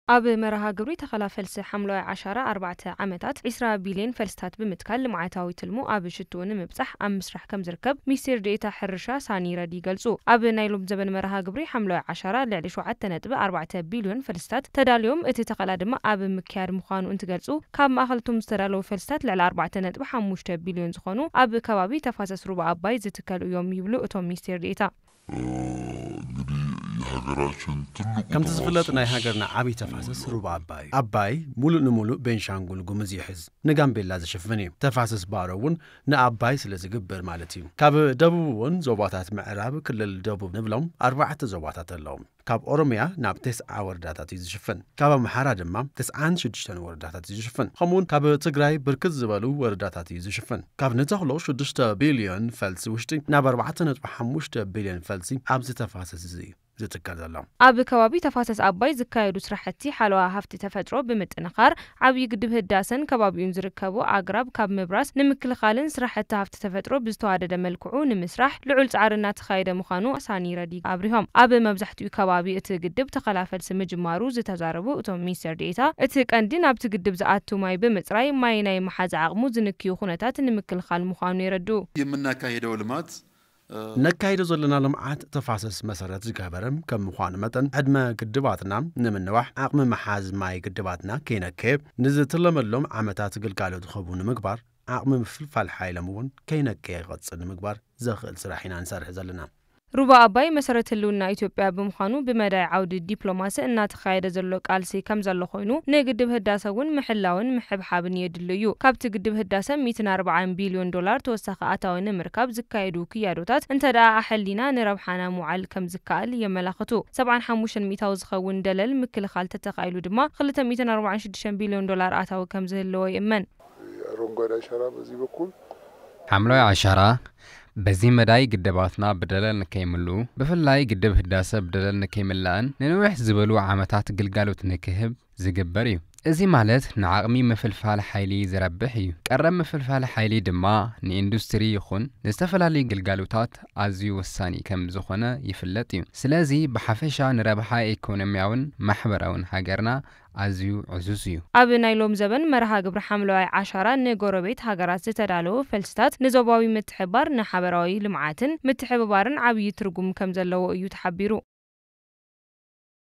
ኣብ መርሃ ግብሪ ተኸላ ፈልሲ ሓምለዋይ ዓሻራ ኣርባዕተ ዓመታት ዒስራ ቢልዮን ፈልስታት ብምትካል ልምዓታዊ ትልሙ ኣብ ሽትኡ ንምብጻሕ ኣብ ምስራሕ ከም ዝርከብ ሚኒስቴር ዴኤታ ሕርሻ ሳኒ ረዲ ይገልጹ። ኣብ ናይ ሎም ዘበን መርሃ ግብሪ ሓምለዋይ ዓሻራ ልዕሊ ሸውዓተ ነጥቢ ኣርባዕተ ቢልዮን ፈልስታት ተዳልዮም፣ እቲ ተኸላ ድማ ኣብ ምክያድ ምዃኑ እንትገልጹ፣ ካብ ማእኸልቶም ዝተዳለዉ ፈልስታት ልዕሊ ኣርባዕተ ነጥቢ ሓሙሽተ ቢልዮን ዝኾኑ ኣብ ከባቢ ተፋሰስ ሩባ ኣባይ ዝትከሉ እዮም ይብሉ እቶም ሚኒስቴር ዴኤታ። እንግዲህ የሀገራችን ትልቁ ከምቲ ዝፍለጥ ናይ ተፋሰስ ሃገርና ዓብዪ ተፋሰስ ሩባ ኣባይ እዩ። ኣባይ ሙሉእ ንሙሉእ ቤንሻንጉል ጉምዝ ይሕዝ፣ ንጋምቤላ ዝሽፍን እዩ። ተፋሰስ ባሮ እውን ንኣባይ ስለ ዝግብር ማለት እዩ። ካብ ደቡብ እውን ዞባታት ምዕራብ ክልል ደቡብ ንብሎም ኣርባዕተ ዞባታት ኣለዉ። ካብ ኦሮሚያ ናብ ተስዓ ወረዳታት እዩ ዝሽፍን። ካብ ኣምሓራ ድማ ተስዓን ሽዱሽተን ወረዳታት እዩ ዝሽፍን። ከምኡውን ካብ ትግራይ ብርክት ዝበሉ ወረዳታት እዩ ዝሽፍን። ካብ ንተኽሎ ሽዱሽተ ቢልዮን ፈልሲ ውሽጢ ናብ ኣርባዕተ ነጥቢ ሓሙሽተ ቢልዮን ፈልሲ ኣብዚ ተፋሰስ እዚ እዩ ዝትከል ዘሎ። ኣብ ከባቢ ተፋሰስ ኣባይ ዝካየዱ ስራሕቲ ሓለዋ ሃፍቲ ተፈጥሮ ብምጥንኻር፣ ዓብዪ ግድብ ህዳሰን ከባቢኡን ዝርከቡ ኣግራብ ካብ ምብራስ ንምክልኻልን ስራሕቲ ሃፍቲ ተፈጥሮ ብዝተዋደደ መልክዑ ንምስራሕ ልዑል ጻዕሪ እናተኻየደ ምዃኑ ሳኒ ረዲ ኣብሪሆም። ኣብ መብዛሕትኡ ከባቢ እቲ ግድብ ተኸላ ፈልሲ ምጅማሩ ዝተዛረቡ እቶም ሚኒስትር ዴኤታ፣ እቲ ቀንዲ ናብቲ ግድብ ዝኣቱ ማይ ብምጽራይ ማይ ናይ መሓዝ ዓቕሙ ዝንክዩ ኩነታት ንምክልኻል ምዃኑ የረድኡ። የምናካሄደው ልማት ነካይዶ ዘለና ልምዓት ተፋሰስ መሰረት ዝገበረ ከም ምዃኑ መጠን፣ ዕድመ ግድባትና ንምንዋሕ፣ ዓቕሚ መሓዝ ማይ ግድባትና ከይነከየ፣ ንዝትለመሎም ዓመታት ግልጋሎት ክህቡ ንምግባር፣ ዓቕሚ ምፍልፋል ሓይሎም እውን ከይነከየ ክቐፅል ንምግባር ዘኽእል ስራሕ ኢና ንሰርሕ ዘለና። ሩባ ኣባይ መሰረት ህልውና ኢትዮጵያ ብምዃኑ፣ ብመዳይ ዓውዲ ዲፕሎማሲ እናተኻየደ ዘሎ ቃልሲ ከም ዘሎ ኮይኑ፣ ንግድብ ህዳሰ እውን ምሕላውን ምሕብሓብን የድሊ እዩ። ካብቲ ግድብ ህዳሰ ሚእትን ኣርባዓን ቢልዮን ዶላር ተወሳኺ ኣታዊ ንምርካብ ዝካየዱ ክያዶታት እንተ ደኣ ኣሐሊና ንረብሓና ምውዓል ከም ዝከኣል የመላኽቱ። ሰብዓን ሓሙሽተን ሚእታዊ ዝኸውን ደለል ምክልኻል ተተኻኢሉ ድማ ክልተ ሚእትን ኣርባዓን ሽዱሽተን ቢልዮን ዶላር ኣታዊ ከም ዝህልዎ ይእመን። የአረንጓዴ አሻራ በዚህ በኩል ሓምለዋይ ዓሻራ በዚ መዳይ ግድባትና ብደለል ንከይምልኡ፣ ብፍላይ ግድብ ህዳሰ ብደለል ንከይምላእን ንንውሕ ዝበሉ ዓመታት ግልጋሎት ንክህብ ዝግበር እዩ። እዚ ማለት ንዓቕሚ ምፍልፋል ሓይሊ ዝረብሕ እዩ። ቀረብ ምፍልፋል ሓይሊ ድማ ንኢንዱስትሪ ይኹን ንዝተፈላለዩ ግልጋሎታት ኣዝዩ ወሳኒ ከም ዝኾነ ይፍለጥ እዩ። ስለዚ ብሓፈሻ ንረብሓ ኢኮኖሚያውን ማሕበራውን ሃገርና ኣዝዩ ዕዙዝ እዩ። ኣብ ናይ ሎም ዘበን መርሃ ግብሪ ሓምለዋይ ዓሻራ ንጎረቤት ሃገራት ዝተዳለዉ ፈልስታት ንዞባዊ ምትሕባር ንሓበራዊ ልምዓትን ምትሕብባርን ዓብዪ ትርጉም ከም ዘለዎ እዩ ተሓቢሩ።